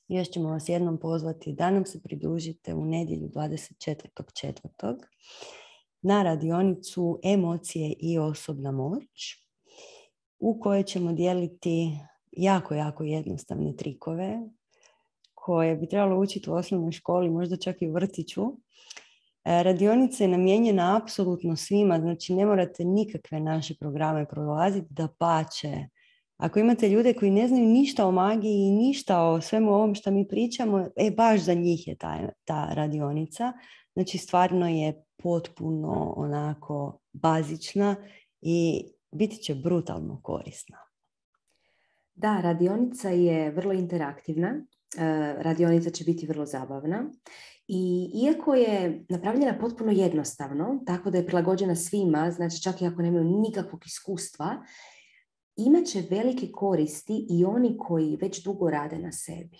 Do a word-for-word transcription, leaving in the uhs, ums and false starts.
Još ćemo vas jednom pozvati da nam se pridružite u nedjelju dvadeset četvrtog četvrtog na radionicu Emocije i osobna moć, u kojoj ćemo dijeliti jako, jako jednostavne trikove koje bi trebalo učiti u osnovnoj školi, možda čak i u vrtiću. Radionica je namijenjena apsolutno svima, znači ne morate nikakve naše programe prolaziti, dapače. Ako imate ljude koji ne znaju ništa o magiji i ništa o svemu ovom što mi pričamo, e, baš za njih je ta, ta radionica. Znači stvarno je potpuno onako bazična i biti će brutalno korisna. Da, radionica je vrlo interaktivna. Radionica će biti vrlo zabavna. I iako je napravljena potpuno jednostavno, tako da je prilagođena svima, znači čak i ako nemaju nikakvog iskustva, imat će velike koristi i oni koji već dugo rade na sebi.